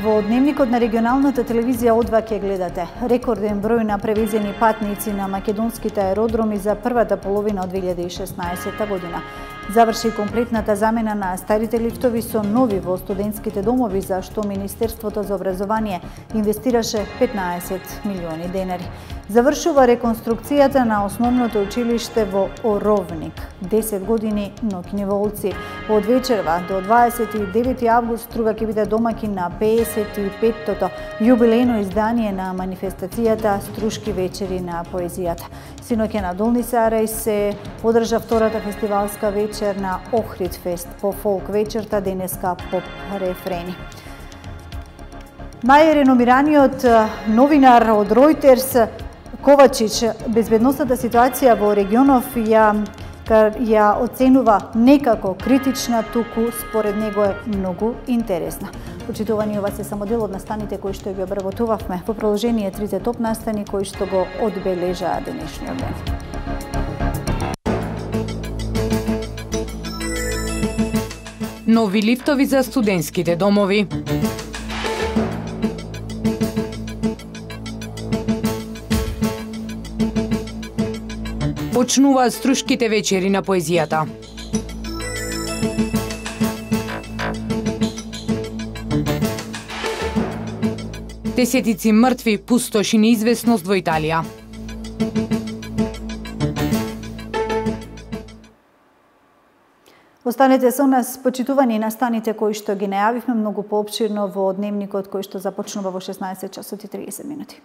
Во дневникот на регионалната телевизија О2 ќе гледате рекорден број на превезени патници на македонските аеродроми за првата половина од 2016 година. Заврши комплетната замена на старите лифтови со нови во студентските домови, за што Министерството за образование инвестираше 15 милиони денари. Завршува реконструкцијата на основното училиште во Оровник. 10 години ноќни волци. Од вечерва до 29 август Струга ќе биде домаќин на 55-тото јубилејно издание на манифестацијата Струшки вечери на поезијата. Синоќа на Долни Сарај се одржа втората фестивалска вечер на Охрид фест по фолк вечерта, денеска поп рефрени. Најреномираниот новинар од Ројтерс Ковачич безбедносната ситуација во регионов ја оценува некако критична, туку според него е многу интересна. Почитувани, ова се само дел од настаните кои што ги обработувавме. Во продолжение трите топ настани кои што го одбележаа денешниот ден. Нови лифтови за студентските домови. Почнуваат Струшките вечери на поезијата. Десетици мртви, пустош и неизвестност во Италија. Останете со нас, почитувани, настаните кои што ги најавивме многу поопширно во дневникот кој што започнува во 16 часот и 30 минути.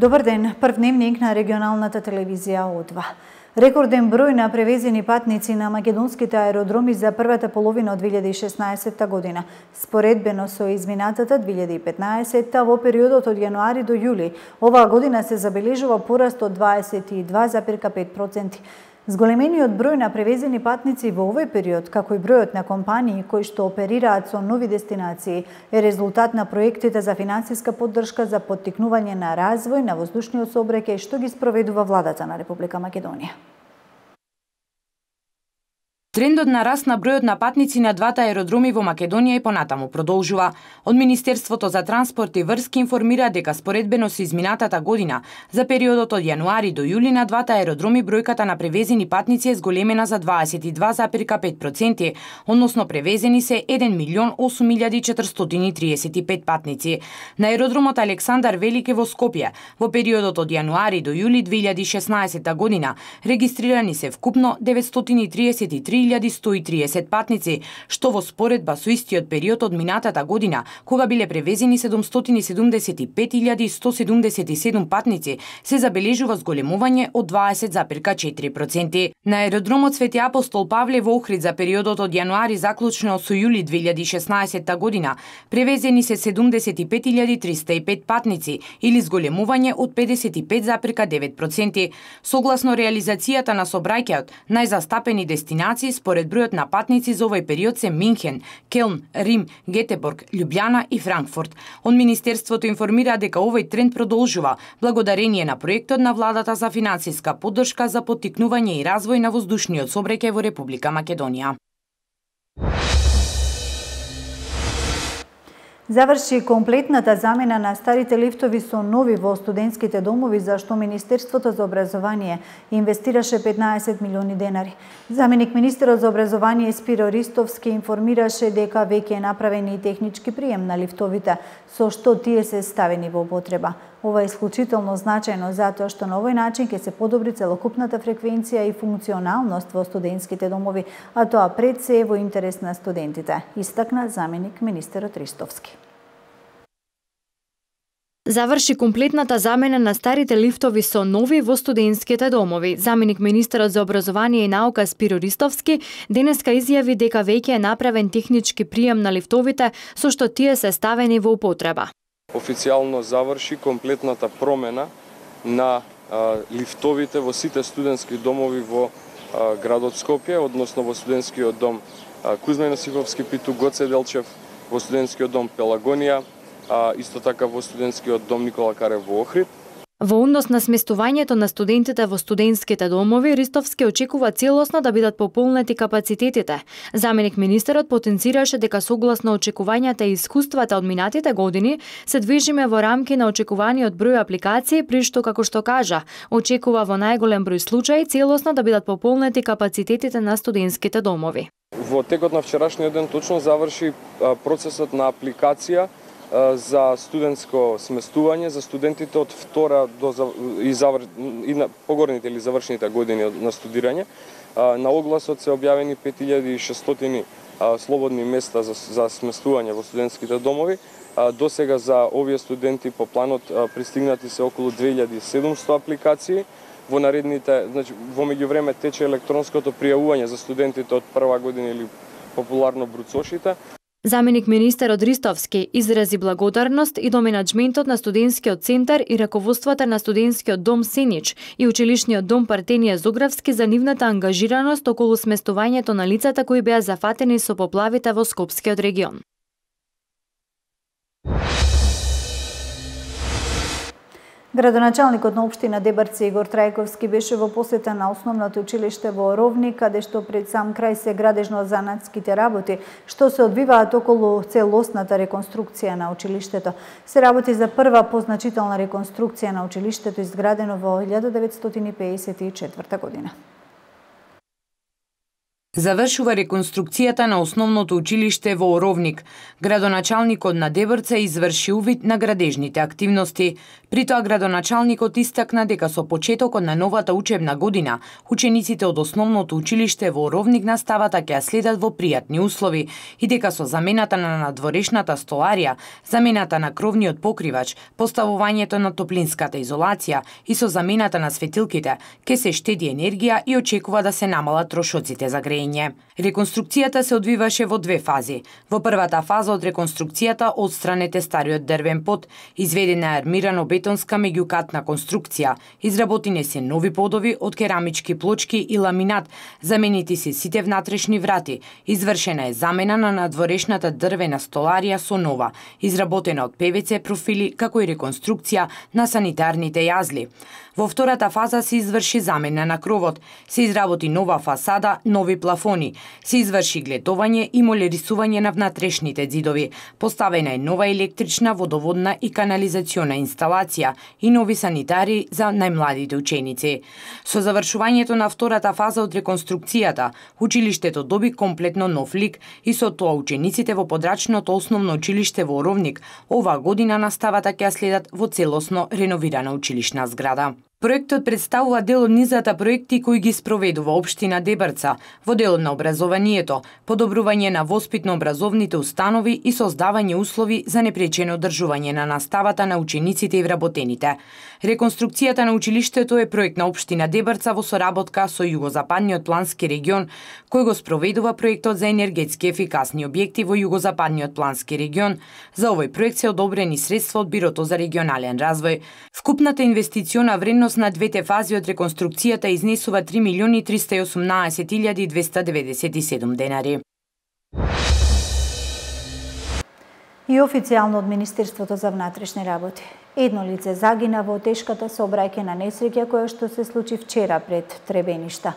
Добар ден, прв дневник на регионалната телевизија О2. Рекорден број на превезени патници на македонските аеродроми за првата половина од 2016 година. Споредбено со изминатата 2015 во периодот од јануари до јули, оваа година се забележува пораст од 22,5%. Зголемениот број на превезени патници во овој период, како и бројот на компании кои што оперираат со нови дестинации, е резултат на проектите за финансиска поддршка за поттикнување на развој на воздушниот сообраќај што ги спроведува владата на Република Македонија. Трендот на раст на бројот на патници на двата аеродроми во Македонија и понатаму продолжува. Од Министерството за транспорт и врски информира дека споредбено со изминатата година, за периодот од јануари до јули на двата аеродроми бројката на превезени патници е зголемена за 22,5%, односно превезени се 1.008.435 патници. На аеродромот Александар Велики во Скопје, во периодот од јануари до јули 2016 година, регистрирани се вкупно 933.130 патници, што во споредба со истиот период од минатата година, кога биле превезени 775.177 патници, се забележува зголемување од 20,4%. На аеродромот Свети Апостол Павле во Охрид за периодот од јануари заклучно со јули 2016 година, превезени се 75.305 патници, или зголемување од 55,9%. Согласно реализацијата на сообраќајот, најзастапени дестинации според бројот на патници за овој период се Минхен, Келн, Рим, Гетеборг, Љубљана и Франкфурт. Од Министерството информира дека овој тренд продолжува благодарение на проектот на владата за финансиска поддршка за поттикнување и развој на воздушниот сообраќај во Република Македонија. Заврши комплетната замена на старите лифтови со нови во студентските домови, за што Министерството за образование инвестираше 15 милиони денари. Заменик министерот за образование Спиро Ристовски информираше дека веќе е направен и технички прием на лифтовите, со што тие се ставени во употреба. Ова е исклучително значајно затоа што на овој начин ќе се подобри целокупната фреквенција и функционалност во студентските домови, а тоа пред се е во интерес на студентите, истакна заменик министерот Ристовски. Заврши комплетната замена на старите лифтови со нови во студентските домови. Заменик министерот за образование и наука Спиро Ристовски денеска изјави дека веќе е направен технички прием на лифтовите, со што тие се ставени во употреба. Официјално заврши комплетната промена на лифтовите во сите студентски домови во градот Скопје, односно во студентскиот дом Кузма Јосифовски Питу, Гоце Делчев, во студентскиот дом Пелагонија, исто така во студентскиот дом Никола Карев во Охрид. Во однос на сместувањето на студентите во студентските домови, Ристовски очекува целосно да бидат пополнети капацитетите. Заменик министерот потенцираше дека согласно очекувањата и искуствата од минатите години се движиме во рамки на очекуваниот број апликации, при што, како што кажа, очекува во најголем број случаи целосно да бидат пополнети капацитетите на студентските домови. Во текот на вчерашниот ден точно заврши процесот на апликација за студентско сместување за студентите од втора и на погорните или завршените години на студирање. На огласот се објавени 5600 слободни места за сместување во студентските домови. До сега за овие студенти по планот пристигнати се околу 2700 апликации. Во наредните, значи во меѓувреме тече електронското пријавување за студентите од прва година или популарно бруцошите. Заменик министерот Ристовски изрази благодарност и до менаџментот на студентскиот центар и раководството на студентскиот дом Сенич и училишниот дом Партенија Зографски за нивната ангажираност околу сместувањето на лицата кои беа зафатени со поплавите во Скопскиот регион. Градоначалникот на општина Дебарци Игор Трајковски беше во посета на основното училиште во Ровник, каде што пред сам крај се градежно-занатските работи, што се одвиваат околу целосната реконструкција на училиштето. Се работи за прва позначителна реконструкција на училиштето изградено во 1954 година. Завршува реконструкцијата на основното училиште во Оровник. Градоначалникот на Дебрца изврши увид на градежните активности. При тоа градоначалникот истакна дека со почетокот на новата учебна година, учениците од основното училиште во Оровник наставата ќе ја следат во пријатни услови и дека со замената на надворешната столарија, замената на кровниот покривач, поставувањето на топлинската изолација и со замената на светилките ќе се штеди енергија и очекува да се намалат трошоците за грејење. Реконструкцијата се одвиваше во две фази. Во првата фаза од реконструкцијата отстранете стариот дрвен под, изведена е армирано-бетонска меѓукатна конструкција, изработени се нови подови од керамички плочки и ламинат, заменити се сите внатрешни врати, извршена е замена на надворешната дрвена столарија со нова, изработена од ПВЦ профили, како и реконструкција на санитарните јазли. Во втората фаза се изврши замена на кровот, се изработи нова фасада, нови плафони, се изврши гледување и молерисување на внатрешните ѕидови, поставена е нова електрична, водоводна и канализациона инсталација и нови санитари за најмладите ученици. Со завршувањето на втората фаза од реконструкцијата, училиштето доби комплетно нов лик и со тоа учениците во подрачното основно училиште во Оровник оваа година наставата ќе ја следат во целосно реновирана училишна зграда. Проектот представува дел од низата проекти кои ги спроведува општина Дебрца во делот на образованието, подобрување на воспитно-образовните установи и создавање услови за непречено одржување на наставата на учениците и вработените. Реконструкцијата на училиштето е проект на општина Дебрца во соработка со Југозападниот плански регион, кој го спроведува проектот за енергетски ефикасни објекти во Југозападниот плански регион. За овој проект се одобрени средства од Бирото за регионален развој. Вкупната инвестициона вредност на двете фази од реконструкцијата изнесува 3.318.297 денари. И официјално од Министерството за внатрешни работи. Едно лице загина во тешката сообраќајна несреќа која што се случи вчера пред Требеништа.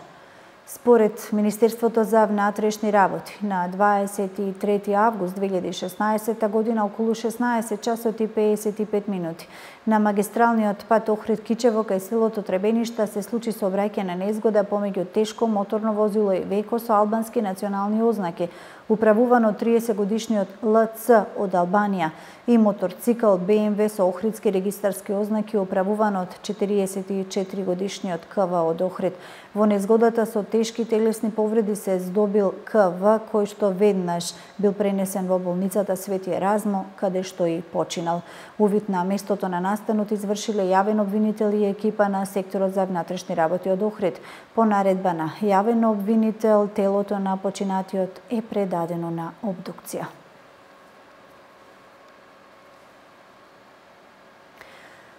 Според Министерството за внатрешни работи, на 23 август 2016 година околу 16 часот и 55 минути на магистралниот пат Охрид-Кичево кај селото Требеништа се случи сообраќајна незгода помеѓу тешко моторно возило и веко со албански национални ознаки, управувано од 30-годишниот ЛЦ од Албанија и моторцикл БМВ со охридски регистарски ознаки управуван од 44-годишниот КВ од Охрид. Во незгодата со тешки телесни повреди се здобил КВ, кој што веднаш бил пренесен во болницата Свети Еразмо, каде што и починал. Увид на местото на настанот извршиле јавен обвинител и екипа на секторот за внатрешни работи од Охрид. По наредба на јавен обвинител, телото на починатиот е предадено на обдукција.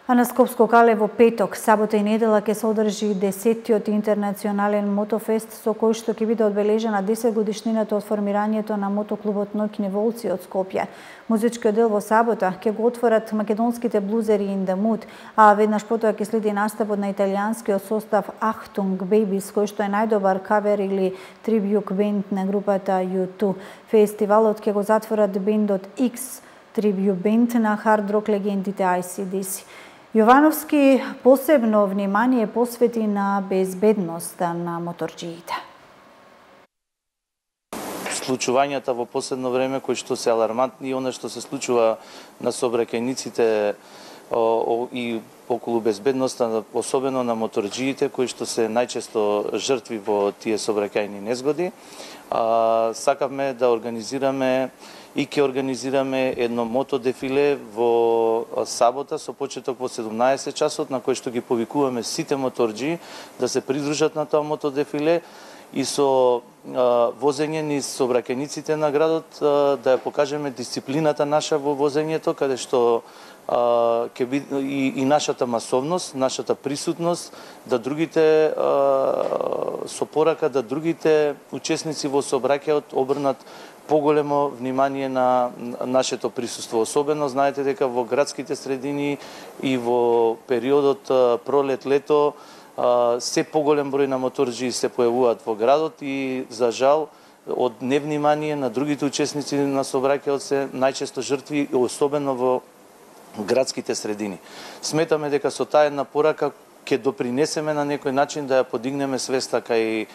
А на Скопско кале во петок, сабота и недела ќе се одржи 10-тиот интернационален мотофест со кој што ќе биде одбележена 10 годишнината од формирањето на мотоклубот Ноќни волци од Скопје. Музичкиот дел во сабота ќе го отворат македонските блузери In The Mood, а веднаш потоа ќе следи настапот на италијанскиот состав Achtung Babies, кој што е најдобар кавер или трибјут бенд на групата U2. Фестивалот ќе го затворат бендот X, трибјут бенд на хард рок легендите AC/DC. Јовановски посебно внимание посвети на безбедноста на моторџиите. Случувањата во последно време кои што се алармантни и она што се случува на сообраќајниците и околу безбедноста, особено на моторџиите кои што се најчесто жртви во тие сообраќајни незгоди. Сакавме да организираме и ќе организираме едно мотодефиле во сабота со почеток во 17 часот, на кој што ги повикуваме сите моторџии да се придружат на тоа мотодефиле и со возење низ сообраќајниците на градот да ја покажеме дисциплината наша во возењето, каде што ќе биде и нашата масовност, нашата присутност, да другите со порака да другите учесници во сообраќајот обрнат поголемо внимание на нашето присуство. Особено знаете дека во градските средини и во периодот пролет-лето се поголем број на моторџии се појавуваат во градот и за жал од невнимание на другите учесници на сообраќајот се најчесто жртви, особено во градските средини. Сметаме дека со таа една порака ќе допринесеме на некој начин да ја подигнеме свеста кај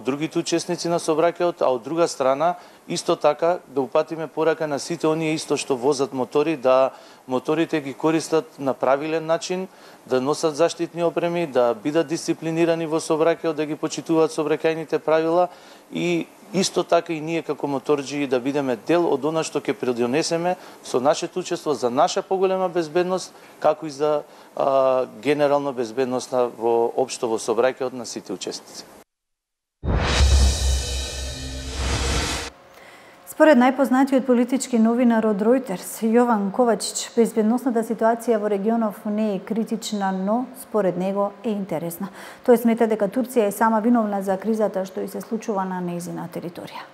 другите учесници на сообраќајот, а од друга страна исто така да упатиме порака на сите оние исто што возат мотори, да моторите ги користат на правилен начин, да носат заштитни опреми, да бидат дисциплинирани во сообраќајот, да ги почитуваат сообраќајните правила и исто така и ние како моторџии да бидеме дел од она што ќе придонесеме со нашето учество за наша поголема безбедност, како и за генерално безбедност во општо во сообраќајот на сите учесници. Според најпознатиот политички новинар од Reuters, Јован Ковачич, безбедносната ситуација во регионов не е критична, но според него е интересна. Тој смета дека Турција е сама виновна за кризата што и се случува на нејзина територија.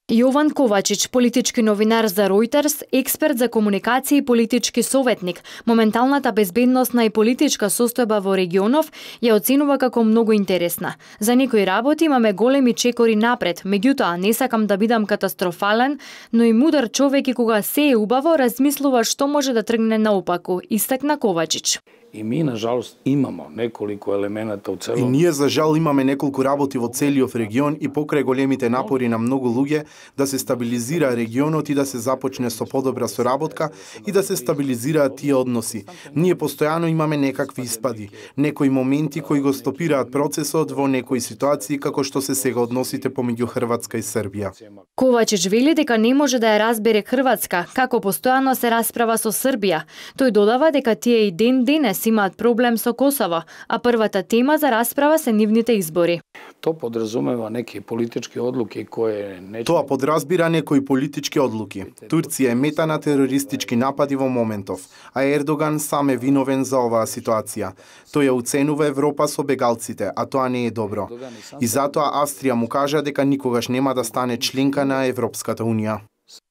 Јован Ковачич, политички новинар за Reuters, експерт за комуникација и политички советник, моменталната безбедносна и политичка состојба во регионов ја оценува како многу интересна. За некои работи имаме големи чекори напред, меѓутоа не сакам да бидам катастрофален, но и мудар човек и кога се е убаво размислува што може да тргне наопаку, истакна Ковачич. И ми, на жалост, имамо неколку елемента од цело. И ние, за жал, имаме неколку работи во целиот регион и покрај големите напори на многу луѓе да се стабилизира регионот и да се започне со подобра соработка и да се стабилизираат тие односи. Ние постојано имаме некакви испади, некои моменти кои го стопираат процесот во некои ситуации како што се сега односите помеѓу Хрватска и Србија. Ковачич вели дека не може да ја разбере Хрватска, како постојано се расправа со Србија. Тој додава дека тие и ден-денес имаат проблем со Косово, а првата тема за расправа се нивните избори. Тоа подразумeva неки политички одлуки кои не... Тоа подразбира некои политички одлуки. Турција е мета на терористички напади во моментов, а Ердоган сам е виновен за оваа ситуација. Тој ја уценува Европа со бегалците, а тоа не е добро. И затоа Австрија му кажа дека никогаш нема да стане членка на Европската унија.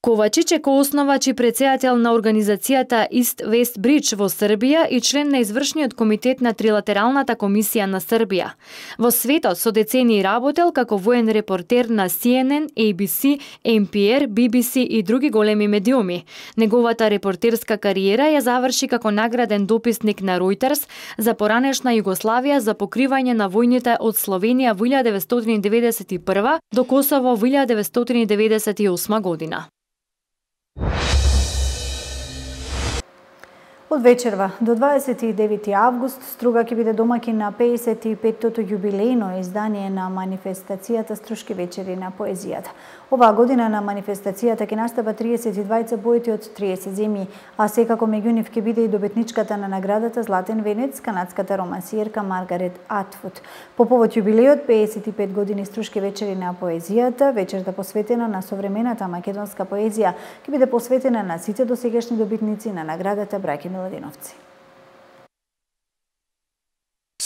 Ковачич е коосновач и председател на организацијата East West Bridge во Србија и член на извршниот комитет на Трилатералната комисија на Србија. Во светот со децении работел како воен репортер на CNN, ABC, NPR, BBC и други големи медиуми. Неговата репортерска кариера ја заврши како награден дописник на Reuters за поранешна Југославија за покривање на војните од Словенија во 1991 до Косово во 1998 година. Од вечерва до 29 август Струга ќе биде домаќин на 55-тото јубилејно издание на манифестацијата Струшки вечери на поезијата. Оваа година на манифестацијата ќе настапат 32 поети од 30 земји, а секако меѓу нив ќе биде и добитничката на наградата Златен венец, канадската романсиерка Маргарет Атвуд. По повод јубилејот 55 години Струшки вечери на поезијата, вечерта посветена на современата македонска поезија ќе биде посветена на сите досегашни добитници на наградата браќа Миладиновци.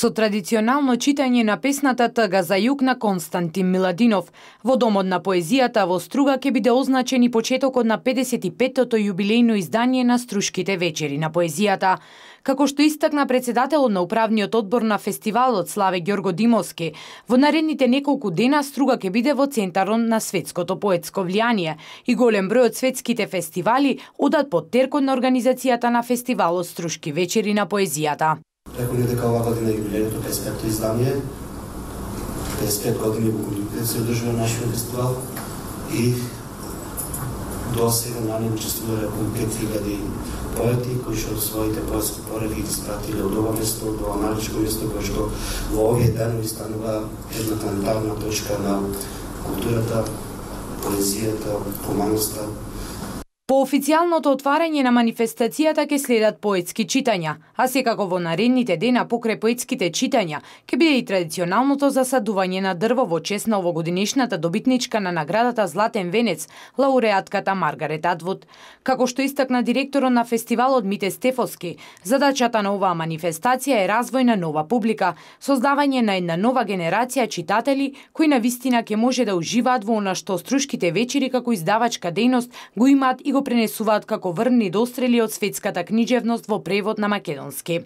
Со традиционално читање на песната Тага за југ на Константин Миладинов, во Домот на поезијата во Струга ќе биде означен и почетокот на 55-тото јубилејно издание на Струшките вечери на поезијата. Како што истакна председателот на управниот одбор на фестивалот Славе Ѓорго Димовски, во наредните неколку дена Струга ќе биде во центарот на светското поетско влијание и голем број од светските фестивали одат под теркот на организацијата на фестивалот Струшки вечери на поезијата. Реколе дека оваа година е јубилејното 55-то издание, 55 години во кои се одржува нашиот фестивал и до сега на него учествувале околу 5000 поети кои што своите поетски пореди ги испратиле од ова место, од ова маличко место кој што во овие денови станува една планетарна точка на културата, поезијата, хуманоста. По официјалното отварање на манифестацијата ќе следат поетски читања, а секако во наредните дена покрај поетските читања ќе биде и традиционалното засадување на дрво во чест на овогодинешната добитничка на наградата Златен венец, лауреатката Маргарет Атвуд. Како што истакна директорот на фестивалот Мите Стефовски, задачата на оваа манифестација е развој на нова публика, создавање на една нова генерација читатели кои навистина ќе може да уживаат во она што Струшките вечери како издавачка дејност го имаат и го пренесуваат како врни дострели од светската книжевност во превод на македонски.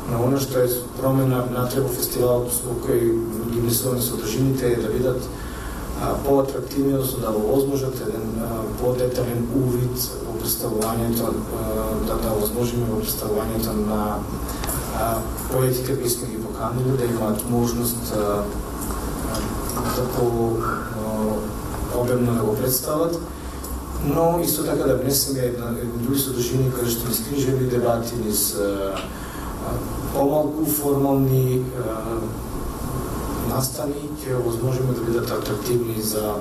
На оно што е промена внатре во фестивалот со кој ги внесуваме содржините е да бидат поатрактивни, односно да овозможат еден подетален увид во представувањето, да овозможиме во представувањето на поетите кои сме ги поканили, да имаат можност да по-обемно да го представат, но исто така да внесеме други содржини кои што низ книжевни дебати, низ помалку формални настани ќе овозможиме да бидат атрактивни за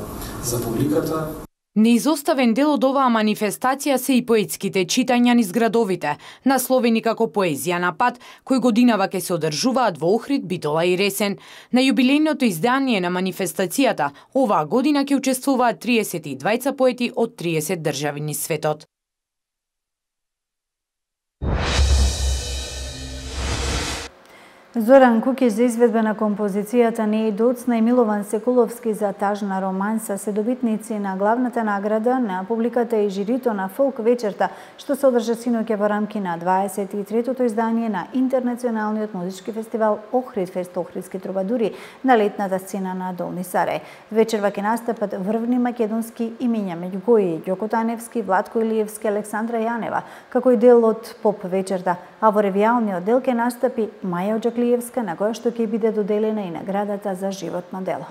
публиката. Неизоставен дел од оваа манифестација се и поетските читања низ градовите, насловени како Поезија на пат, кои годинава ќе се одржуваат во Охрид, Битола и Ресен. На јубилејното издание на манифестацијата оваа година ќе учествуваат 32 поети од 30 држави низ светот. Зоран Кукиш за изведба на композицијата Не е доцна и Милован Секуловски за Тажна романса се добитници на главната награда на публиката и жирито на Фолк вечерта, што се одржа синоќа во рамки на 23-тото издание на Интернационалниот музички фестивал Охрид Фест Охридски трубадури на летната сцена на Долни Сарај. Вечерва ќе настапат врвни македонски имиња меѓу кои Ѓоко Таневски, Владко Илиевски, Александра Јанева, како и дел од поп вечерта, а во ревијалниот дел ќе настапи Маја Оџаклиевска, на која што ќе биде доделена и наградата за животно дело.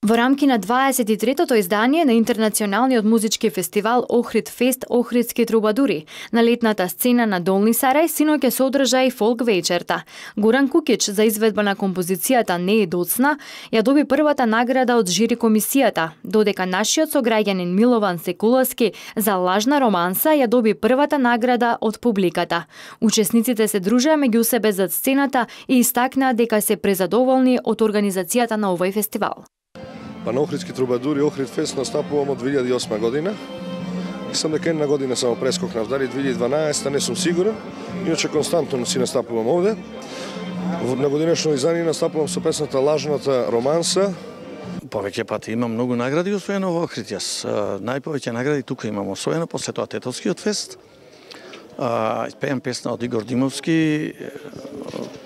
Во рамки на 23-тото издание на Интернационалниот музички фестивал Охрид Фест Охридски трубадури на летната сцена на Долни Сарај синоќа се одржа и фолк вечерта. Горан Кукич за изведба на композицијата Не е доцна ја доби првата награда од жири комисијата, додека нашиот сограѓанин Милован Секуловски за Лажна романса ја доби првата награда од публиката. Учесниците се дружеа меѓу себе зад сцената и истакнаа дека се презадоволни од организацијата на овој фестивал. Па на Охридски трубадури Охрид Фест настапувам од 2008 година. Мислам дека една година само прескокнав, дали 2012, не сум сигурен. Иначе константно си настапувам овде. На годинешно издание настапувам со песната Лажната романса. Повеќе пати имам многу награди освоено во Охрид. Јас најповеќе награди тука имам освоено, после тоа Тетовскиот фест. Пеам песна од Игор Димовски.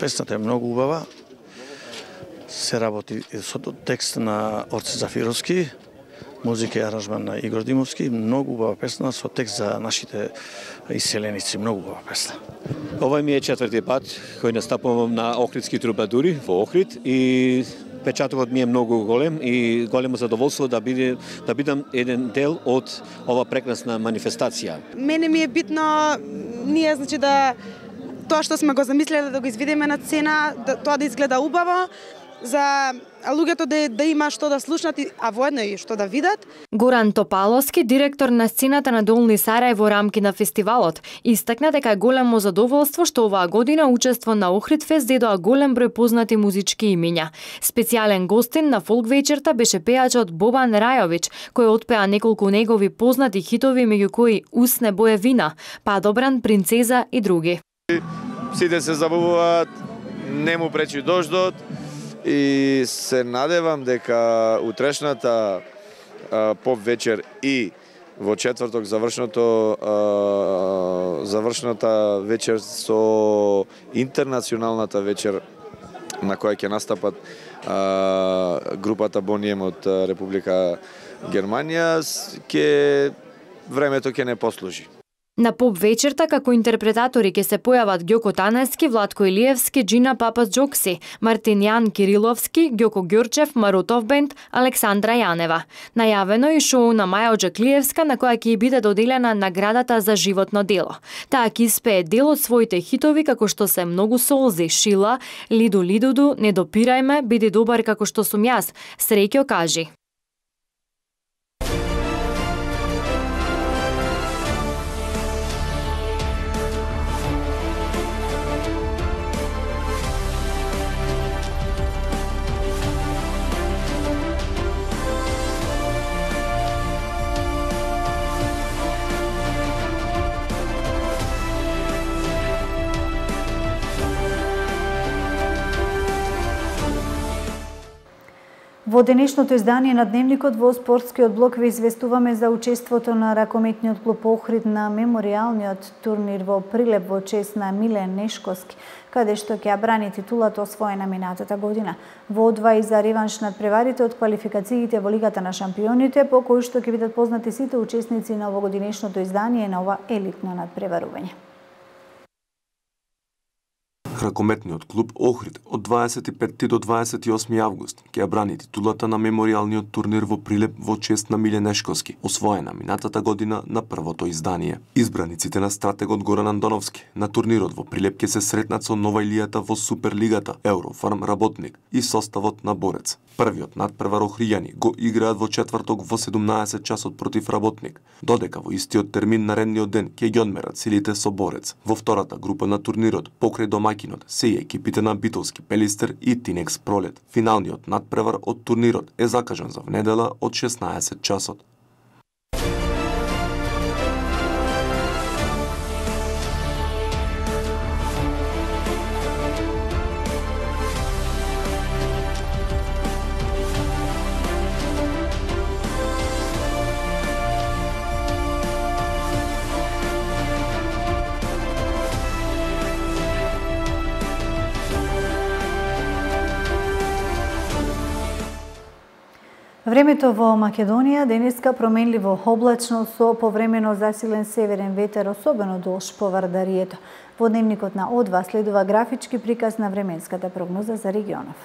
Песната е многу убава. Се работи со текст на Орце Зафировски, музика и аранжман на Игор Димовски, многу убава песна со текст за нашите иселеници, многу убава песна. Ова ми е четврти пат кој настапувам на Охридски трубадури во Охрид и впечатокот ми е многу голем и големо задоволство да бидам еден дел од ова прекрасна манифестација. Мене ми е битно ние да тоа што сме го замислеле да го изведеме на сцена, тоа да изгледа убаво, за луѓето да има што да слушнат, а воедно и што да видат. Горан Топаловски, директор на сцената на Долни Сарај во рамки на фестивалот, истакна дека е големо задоволство што оваа година учество на Охридфест дедоа голем број познати музички имиња. Специјален гостин на фолк вечерта беше пејачот Бобан Рајовиќ, кој отпеа неколку негови познати хитови, меѓу кои Усне бое вина, Падобран, Принцеза и други. Сите се забавуваат, не му пречи дождот, и се надевам дека утрешната поп вечер и во четврток завршната вечер со интернационалната вечер на која ќе настапат групата Бонием од Република Германија, времето ќе не послужи. На поп вечерта како интерпретатори ќе се појават Ѓоко Танески, Владко Илиевски, Джина Папас Джокси, Мартинијан Кириловски, Ѓоко Ѓурчев, Марутов бенд, Александра Јанева. Најавено и шоу на Маја Оџаклиевска на која ќе биде доделена наградата за животно дело. Таа ќе испее дел од своите хитови како што се Многу солзи, Шила, Лиду Лидуду, Не допирај ме, Биди добар како што сум јас, Среќо кажи. Во денешното издание на Дневникот во спортскиот блок ви известуваме за учеството на ракометниот клуб Охрид на меморијалниот турнир во Прилеп во чест на Милен Нешковски, каде што ќе ја брани титулата освоена минатата година. Во одва и за реванш над преварите од квалификациите во Лигата на шампионите, по кои што ќе бидат познати сите учесници на овогодинешното издание на ова елитно надпреварување. Ракометниот клуб Охрид од 25 до 28 август ќе ја брани титулата на меморијалниот турнир во Прилеп во чест на Милен Нешковски, освоена минатата година на првото издание. Избраниците на стратегот Горан Андоновски на турнирот во Прилеп ќе се сретнат со нова илијата во Суперлигата, Еврофарм Работник и составот на Борец. Првиот надпревар охријани го играат во четврток во 17 часот против Работник, додека во истиот термин наредниот ден ќе ги одмерат силите со Борец. Во втората група на турнирот, покрај домаќинот, се и екипите на Битолски Пелистер и Тинекс Пролет. Финалниот надпревар од турнирот е закажан за внедела од 16 часот. Времето во Македонија денеска променливо облачно со повремено засилен северен ветер, особено долж по Вардарието. Во Дневникот на Одва следува графички приказ на временската прогноза за регионов.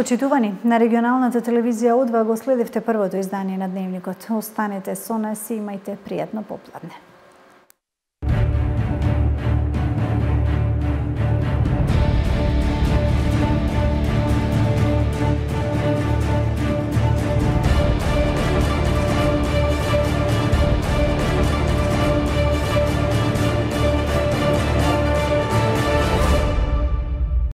Почитувани, на регионалната телевизија Одва го следевте првото издание на Дневникот. Останете со нас и имајте пријатно попладне.